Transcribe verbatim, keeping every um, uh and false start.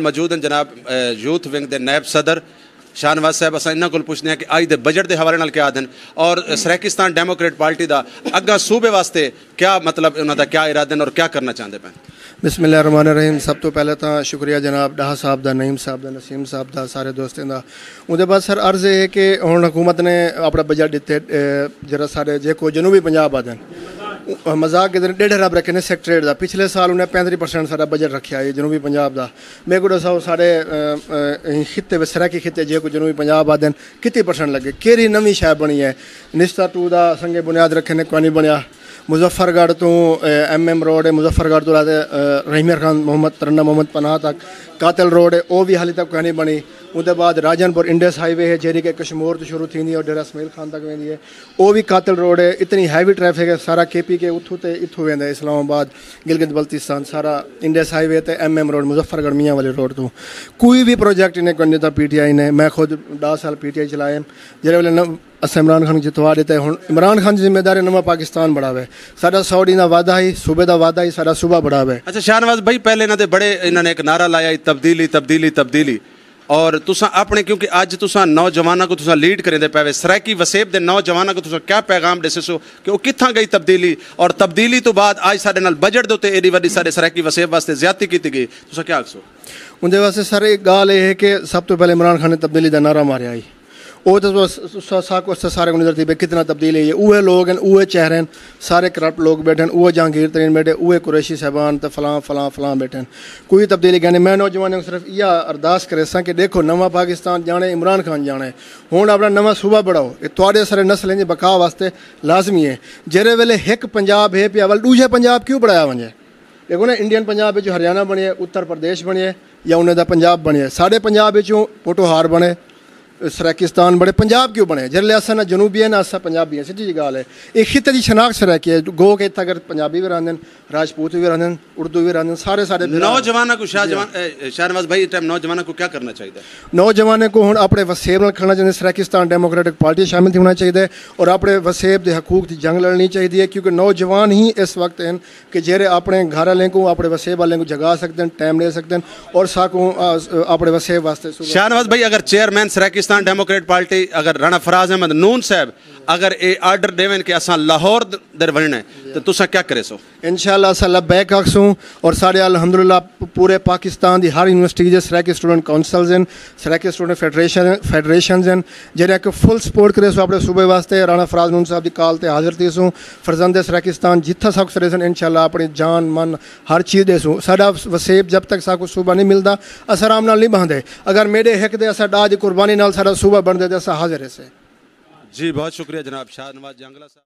موجود ہیں جناب، اے، یوتھ ونگ دے نائب صدر شاہ نواز صاحب، اساں انہاں کول پچھدے ہیں کہ آج دے بجٹ دے حوالے نال کیا آدھن اور سرائیکستان ڈیموکریٹ پارٹی دا اگاں صوبے واسطے کیا، مطلب، انہاں دا کیا ارادے ہیں اور کیا کرنا چاہندے پئے؟ بسم اللہ الرحمن الرحیم۔ سب تو پہلے تاں شکریہ جناب ڈاہا صاحب دا، نعیم صاحب دا، نسیم صاحب دا، سارے دوستیں دا۔ اوندے بعد سر عرض ہے کہ ہن حکومت نے اپنا بجٹ ڈتے، اے، جڑا سارے جے کو جنوبی پنجاب آدھن، مذاق کے دن ڈیڑھ ارب رکھے نے سیکٹریٹ دا۔ پچھلے سال انہیں پینتری پرسینٹ سارا بجٹ رکھیا ہے جنوبی پنجاب دا۔ میکوں ݙساؤ ساݙے، اے، اے، خطے وچ، سرائیکی خطے جیکوں جنوبی پنجاب آہدن، کتنی پرسنٹ لڳے؟ کیڑھی نویں شے بݨی ہے؟ نشتہ ٹو دا سنگ بنیاد رکھے نے، کوئی نہیں بݨیا۔ مظفر گڑھ توں، اے، ایم ایم روڈ ہے، مظفر گڑھ توں لے تے، اے، رحیم یار خان محمد، ترنم محمد پناہ تک قاتل روڈ ہے، او وی حالی تک کوئی نہیں بݨی۔ اوندے بعد راجن پور انڈس ہائی وے ہے، جیڑھی کہ کشمور توں شروع تھیندی ہے اور ڈیرہ اسماعیل خان تک ویندی ہے۔ او وی قاتل روڈ ہے، اتنی ہیوی ٹریفک ہے، سارا کے پی کے اتھوں تے اتھوں ویندا ہے، اسلام آباد، گلگت بلتستان، سارا انڈس ہائی وے تے ایم ایم روڈ، مظفر گڑھ میاں والی روڈ توں۔ کوئی وی پروجیکٹ انہیں کوئی نہیں ݙتا پی ٹی آئی نے۔ میں خود ݙاہ سال پی ٹی آئی چلائے، جیڑھے ویلے نہ اساں عمران خان کوں جتوا ݙتا ہے، ہݨ عمران خان دی ذمہ داری ہے نواں پاکستان بݨاوے۔ ساݙا سو ݙینہہ دا وعدہ ہئی، صوبے دا وعدہ ہئی، ساݙا صوبہ بݨاوے۔ اچھا شاہ نواز بھائی، پہلے انہاں دے بڑے، انہاں نے ایک نعرہ لایا ہئی، تبدیلی، تبدیلی، تبدیلی۔ اور تساں اپݨے، کیونکہ اڄ تساں نوجواناں کوں تساں لیڈ کریندے پئے وے، سرائیکی وسیب دے نوجواناں کوں تساں کیا پیغام ݙیسو کہ او کتھاں ڳئی تبدیلی، اور تبدیلی توں بعد اڄ ساݙے نال بجٹ دے اتے ایݙی وݙی ساݙے سرائیکی وسیب واسطے زیادتی کیتی ڳئی، تساں کیا آکھسو؟ اوندے واسطے سر، ایک ڳالھ اے ہے کہ سب توں پہلے عمران خان نے تبدیلی دا نعرہ ماریا ہئی۔ او تے تساں، تساں، ساکوں اساں سارے کوں نظر تھی پئے کتنا تبدیلی ہے۔ اوہے لوگ ہن، اوہے چہرے ہن، سارے کرپٹ لوگ ٻیٹھے ہن، اوہے جہانگیر ترین ٻیٹھے، اوہے قریشی صاحبان تے فلاں، فلاں، فلاں ٻیٹھے ہن۔ کوئی تبدیلی کائنی۔ میں نوجوانیں کوں صرف ایہا ارداس کریساں کہ ݙیکھو، نواں پاکستان ڄاݨے، عمران خان ڄاݨے۔ ہݨ اپݨا نواں صوبہ بݨاؤ، اے تہاݙے سارے نسلیں دی بقا واسطے لازمی ہے۔ جیڑھے ویلے ہک پنجاب ہے پیا، ول ݙوجھے پنجاب کیوں بݨایا ونڄے؟ ݙیکھو نا، انڈین پنجاب وچ ہریانہ بݨیے، اتر پردیش بݨیے، یا انہیں دا پنجاب بݨیے۔ ساݙے پنجاب وچوں پوٹوہار بݨے، سرائیکستان بݨے، پنجاب کیوں بݨے؟ جیڑھے اساں نہ جنوبی ہیں، نہ اساں پنجابی ہیں، سچی جی ڳالھ ہے۔ اے خطے دی شناخت سرائیکی ہے، گو کہ اتھاں اگر پنجابی وی رہندے ہن، راجپوت وی رہندے ہن، اردو وی رہندے ہن، سارے ساݙے بھرا۔ نوجواناں کوں شاہ جی۔ جوان، اے، اے، شاہ نواز بھائی، اس ٹائم نوجواناں کوں کیا کرنا چاہیے؟ نوجوانیں کوں ہݨ اپݨے وسیب نال کھڑنا چاہیے۔ سرائیکستان ڈیموکریٹک پارٹی شامل تھیوݨا چاہیے اور اپݨے وسیب دے حقوق دی جنگ لڑݨی چاہیے، کیونکہ نوجوان ہی اس وقت ہیں کہ جیڑھے اپݨے گھر والیں کوں، اپݨے وسیب والیں کوں جگا سڳدن، ٹائم ݙے سڳدن اور ساکوں، آ، اپݨے وسیب واسطے صوبہ۔ شاہ نواز بھائی، اگر چیئرمین سرائیکستان ڈیموکریٹ پارٹی اگر رانا فراز احمد نون صاحب اگر اے آرڈر ݙیون کہ اساں لاہور در ونڄݨا ہے، تو تساں کیا کریسو؟ انشاءاللہ اساں لبیک آکھسوں، اور ساݙے الحمدللہ پ-، پورے پاکستان دی ہر یونیورسٹی دے سرائیکی اسٹوڈنٹ کونسلز ہن، سرائیکی اسٹوڈنٹ فیڈریشن، فیڈریشنز ہن، جیڑھے کہ فل سپورٹ کریسوں اپݨے صوبے واسطے۔ رانا فراز نون صاحب دی کال تے حاضر تھیسوں۔ فرزند سرائیکستان جتھاں ساکوں سݙیسن، انشاءاللہ اپݨی جان، من، ہر چیز ݙیسوں۔ ساݙا وسیب جب تک ساکوں صوبہ نہیں ملدا، اساں آرام نال نہیں ٻہندے۔ اگر میݙے ہک دے اساں ݙاہ دی قربانی نال ساݙا صوبہ بݨدے تے اساں حاضر ہیسے۔ جی، بہت شکریہ جناب شاہ نواز جانگلہ صاحب۔